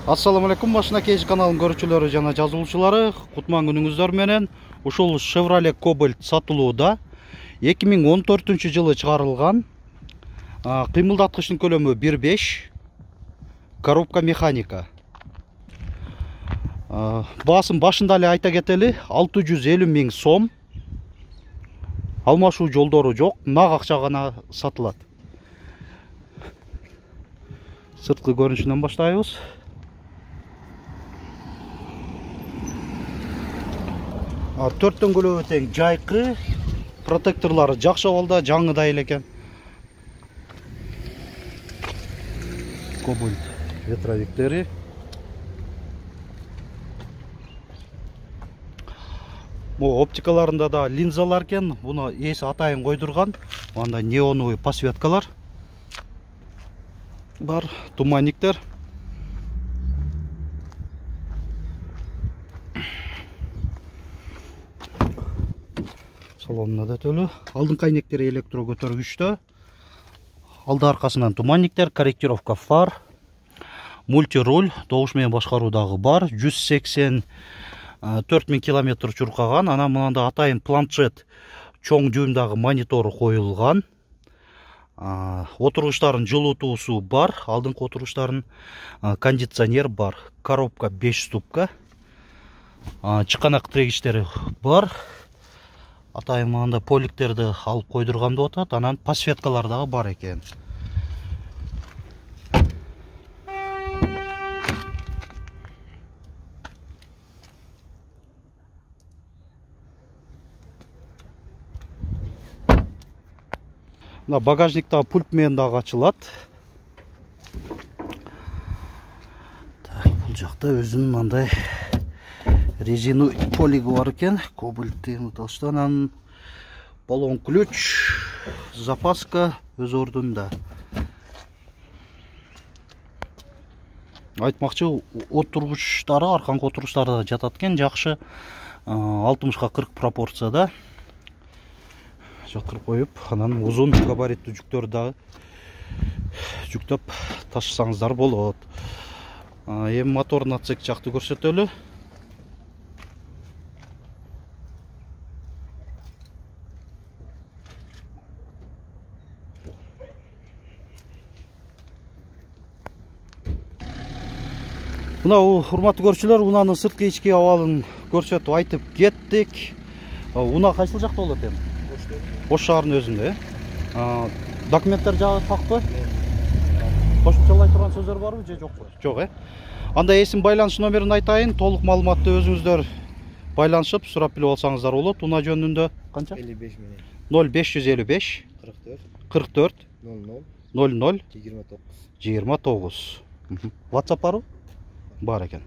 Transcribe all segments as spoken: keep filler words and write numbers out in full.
Assalamu alaikum, Машина Кейж каналынын көрүүчүлөрү жана жазылуучулары. Кутман күнүңүздөр менен. Ушул Chevrolet Cobalt сатылууда. эки миң он төртүнчү жылы чыгарылган. Кыймылдаткычтын көлөмү бир беш. Коробка механика. Баасын башында эле айта кетели, алты жүз элүү миң сом. Алмашуу жолдору жок, нак акча гана сатылат. Сырткы көрүнүшүнөн баштайбыз. төрт дөңгөлөгү тең жайкы, протекторлары жакшы абалда, жаңыдай эле экен. Cobalt ветровиктери. Бу оптикаларында да линзалар экен. Буну ээси атайын койдурган. Анда неоновый подсветкалар бар, туманниктер. Салонуна да төлө. Алдыңкы айнектери электро көтөргүчтө. Алды аркасынан туманниктер, корректировка фар, мультируль, добуш менен башкаруудагы бар. жүз сексен төрт миң километр чуркаган. Анан мынанда атайын планшет, чоң жуумдагы монитору коюлган. Отургучтардын жылытуусу бар. Алдыңкы отургучтардын кондиционер бар. Коробка беш ступка. Чыканак тирегичтери бар. Атайын мында поликтерди алып койдурган деп атат. Анан подсветкалар дагы бар экен. Мына багажниктагы пульт менен дагы ачылат. Так, бул жакта өзүнүн мындай резину полиги бар экен. Кобальттын металлдан баллон ключ, запаска өз ордунда. Айтмакчы, отургучтары, арканкы отургучтары да жатат экен, жакшы. алтымышка кырк пропорцияда жаткырып коюп, анан узун габариттүү жүктөрдү дагы жүктөп ташысаңыздар болот. Эми моторун отсек жакты көрсөтөлү. Мына урматтуу көрүүчүлөр, унаанын сырткы ички абалын көрсөтүп айтып кеттик. Уна кайсыл жакта болот эми? Ош шаарынын өзүндө, э? Документтер жагы такпы? Кошумчалай турган сөздөр барбы же жокпу? Жок, э? Анда эсим байланыш номерин айтайын. Толук маалыматты өзүңүздөр байланышып сурап билип алсаңыздар болот. Уна жөнүндө канча? элүү беш менен. ноль беш жүз элүү беш кырк төрт кырк төрт ноль ноль ноль жыйырма тогуз жыйырма тогуз. WhatsApp барбы? Бар экен.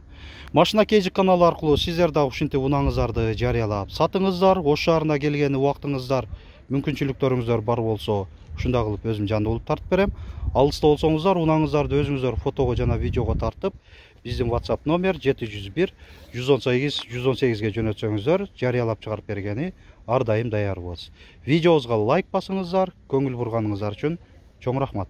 Машина Кейж каналы аркылуу сиздер дагы ушинтип унаңыздарды жарыялап сатыңыздар. Ош шаарына келген убактыңыздар, мүмкүнчүлүктөрүңүздөр бар болсо, ушундай кылып өзүм жанды болуп тартып берем. Алыста болсоңуздар, унаңыздарды өзүңүздөр фотого жана видеого тартып, биздин WhatsApp номер жети жүз бир жүз он сегиз жүз он сегизге жөнөтсөңүздөр, жарыялап чыгарып бергени ар дайым даярбыз. Видеобузга лайк басыңыздар, көңүл бурганыңыздар үчүн чоң рахмат.